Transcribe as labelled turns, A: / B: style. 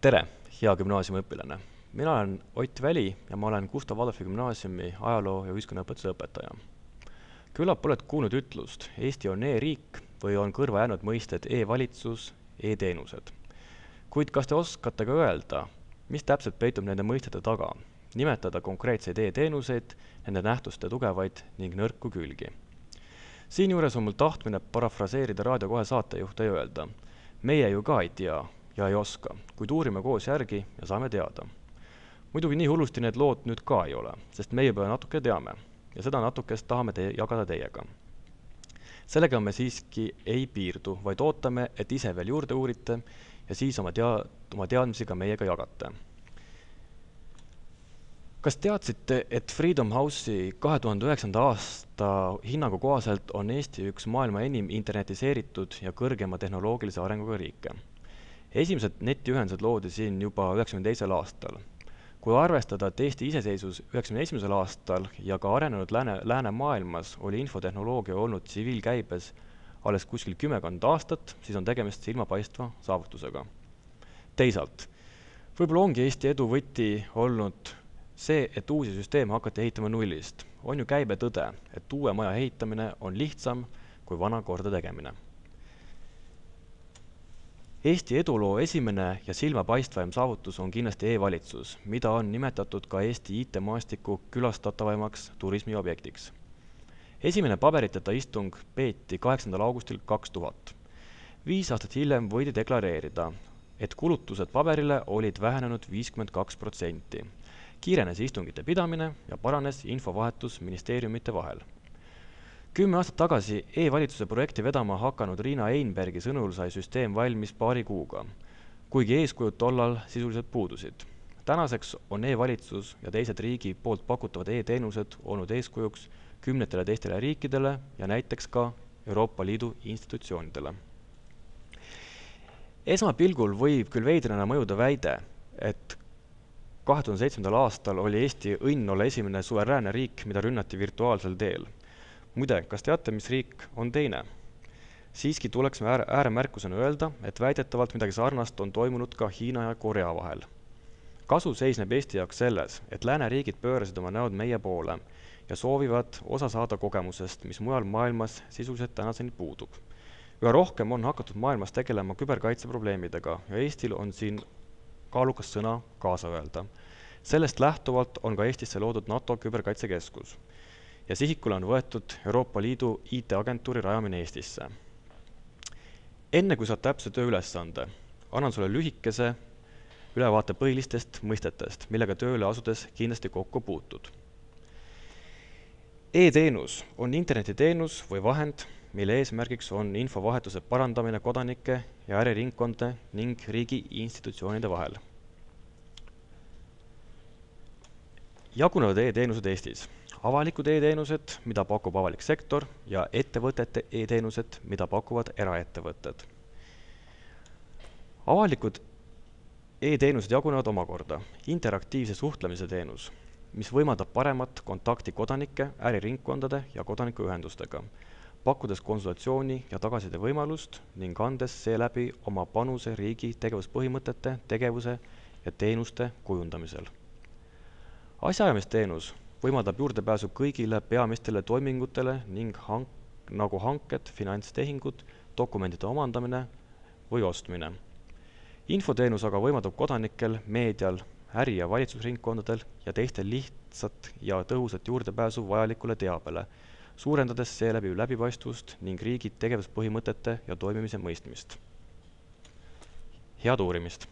A: Tere, hea gümnaasiumiõpilane. Mina olen Ott Väli ja ma olen Gustav Adolfi gümnaasiumi ajaloo- ja ühiskonnaõpetuse õpetaja. Küllap oled kuulnud ütlust, Eesti on e-riik või on kõrva jäänud mõisted e-valitsus, e-teenused. Kuid kas te oskate ka öelda, mis täpselt peitub nende mõistete taga? Nimetada konkreetseid e-teenuseid, nende nähtuste tugevaid ning nõrku külgi. Siinjuures on mul tahtmine parafraseerida Raadio 2 saatejuhte ja öelda, meie ju ka ei tea ja ei oska, kuid uurime koos järgi ja saame teada. Muidugi nii hullusti need lood nüüd ka ei ole, sest meie juba natuke teame ja seda natukest tahame jagada teiega. Sellega me siiski ei piirdu, vaid ootame, et ise veel juurde uurite ja siis oma teadmisi ka meiega jagate. Kas teadsite, et Freedom House'i 2009. aasta hinnangu kohaselt on Eesti üks maailma enim internetiseeritud ja kõrgema tehnoloogilise arenguga riike? Esimesed netiühendused loodi siin juba 1992. aastal. Kui arvestada, et Eesti iseseisvus 1991. aastal ja ka arenenud lääne maailmas oli infotehnoloogia olnud tsiviilkäibes alles kuskil 10 aastat, siis on tegemist silmapaistva saavutusega. Teisalt, võib-olla ongi Eesti edu võti olnud see, et uusi süsteeme hakati ehitama nullist. On ju käibe tõde, et uue maja ehitamine on lihtsam kui vana korda tegemine. Eesti eduloo esimene ja silmapaistvaim saavutus on kindlasti e-valitsus, mida on nimetatud ka Eesti IT-maastiku külastatavaimaks turismiobjektiks. Esimene paberiteta istung peeti 8. augustil 2000. 5 aastat hiljem võidi deklareerida, et kulutused paberile olid vähenenud 52%. Kiirenes istungite pidamine ja paranes infovahetus ministeeriumite vahel. 10 aastat tagasi e-valitsuse projekti vedama hakanud Riina Einbergi sõnul sai süsteem valmis paari kuuga, kuigi eeskujud tollal sisuliselt puudusid. Tänaseks on e-valitsus ja teised riigi poolt pakutavad e-teenused olnud eeskujuks kümnetele teistele riikidele ja näiteks ka Euroopa Liidu institutsioonidele. Esmapilgul võib küll veidrana mõjuda väide, et 2007. aastal oli Eesti õnn olla esimene suveräänne riik, mida rünnati virtuaalsel teel. Muide, kas teate, mis riik on teine? Siiski tuleks me ääremärkusena öelda, et väidetavalt midagi sarnast on toimunud ka Hiina ja Korea vahel. Kasu seisneb Eesti jaoks selles, et lääneriigid pöörasid oma näod meie poole ja soovivad osa saada kogemusest, mis mujal maailmas sisuliselt tänaseni puudub. Üha rohkem on hakatud maailmas tegelema küberkaitseprobleemidega ja Eestil on siin kaalukas sõna kaasa öelda. Sellest lähtuvalt on ka Eestisse loodud NATO küberkaitsekeskus ja sihikule on võetud Euroopa Liidu IT-agentuuri rajamine Eestisse. Enne kui saad täpse tööülesande, annan sulle lühikese ülevaate põhilistest mõistetest, millega tööle asudes kindlasti kokku puutud. E-teenus on internetiteenus või vahend, mille eesmärgiks on infovahetuse parandamine kodanike ja äriringkondade ning riigi institutsioonide vahel. Jagunevad e-teenused Eestis. Avalikud e-teenused, mida pakub avalik sektor ja ettevõtete e-teenused, mida pakuvad eraettevõtted. Avalikud e-teenused jagunevad omakorda interaktiivse suhtlemise teenus, mis võimaldab paremat kontakti kodanike, äriringkondade ja kodanikuühendustega, pakkudes konsultatsiooni ja tagasiside võimalust ning andes seeläbi oma panuse riigi tegevuspõhimõtete, tegevuse ja teenuste kujundamisel. Asjaajamisteenus võimaldab juurdepääsu kõigile peamistele toimingutele ning nagu hanked, finantstehingud, dokumentide omandamine või ostmine. Infoteenus aga võimaldab kodanikel, meedial, äri- ja valitsusringkondadel ja teistel lihtsat ja tõhusat juurdepääsu vajalikule teabele, suurendades seeläbi läbipaistvust ning riigi tegevuspõhimõtete ja toimimise mõistmist. Head uurimist!